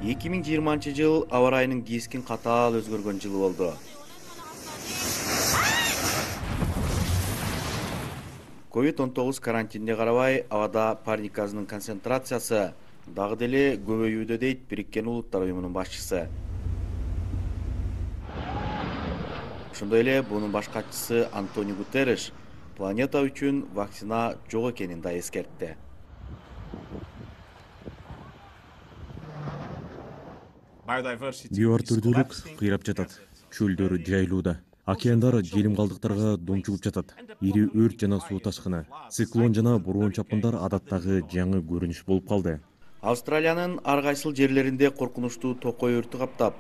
2020 жыл аба ырайынын кескин катаал өзгөргөн жылы болду. COVID-19 карантинге карабай абада парник газынын концентрациясы дагы деле көбөйүүдө дейт Бириккен Улуттар Уюмунун башчысы. Ошондой эле бунун баш катчысы Антонио Гутерриш планета үчүн вакцина жок экенин да эскертти. Био түрдүүлүк кыйрап жатат. Чөлдөр жайылууда. Океандар желим калдыктарга домчугуп жатат. Ири өрт жана суу ташкыны, циклон жана бороон чапкындар адаттагы жаңы көрүнүш болуп калды. Австралиянын ар кайсыл жерлеринде коркунучтуу токой өртү каптап,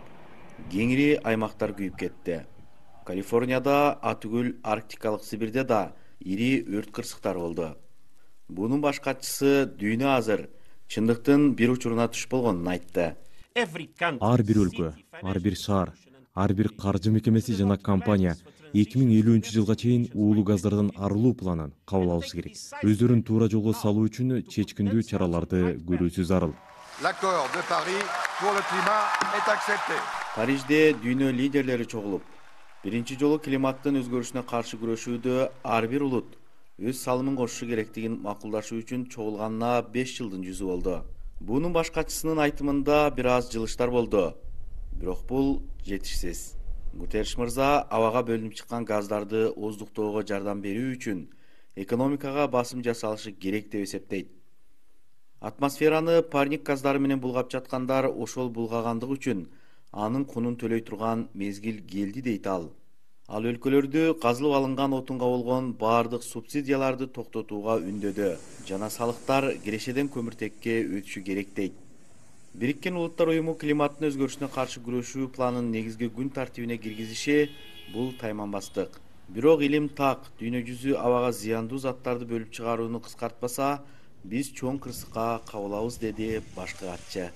кеңири аймактар күйүп кетти. Калифорнияда, атүгүл Арктикалык Сибирде да ири өрт кырсыктар болду. Бунун баш катчысы дүйнө азыр чындыктын бир учуруна туш болгонун айтты. Ар бир өлкө, ар бир шаар, ар бир каржы мекемеси жана компания 2050-жылга чейин уулуу газдардан арылуу планын кабыл алышы керек. Өздөрүн туура жолго салуу үчүн чечкиндүү чараларды көрүүсү зарыл. Парижде дүйнө лидерлери чогулуп, биринчи жолу климаттын өзгөрүшүнө каршы күрөшүүдө ар бир улут өз салымын кошушу керектигин макулдашуу үчүн чогулганына 5 жылдын жүзү болду. Бунун баш катчысынын айтымында бир аз жылыштар болду, бирок бул жетишсиз. Гутерриш мырза абага бөлүнүп чыккан газдарды оздуктоого жардам берүү үчүн экономикага басым жасалышы керек деп эсептейт. Атмосфераны парник газдары менен булгап жаткандар ошол булгагандык үчүн анын кунун төлөй турган мезгил келди дейт ал. Ал өлкөлөрдү казылып алынган отунга болгон баардык субсидияларды токтотууга үндөдү жана салыктар кирешеден көмүртекке өтүшү керек дейт. Бириккен Улуттар Уюму климаттын өзгөрүшүнө каршы күрөшүү планын негизги күн тартибине киргизиши бул тайманбастык. Бирок илим так, дүйнө жүзү абага зыяндуу заттарды бөлүп чыгарууну кыскартпаса, биз чоң кырсыкка кабылабыз, деди башкы катчы.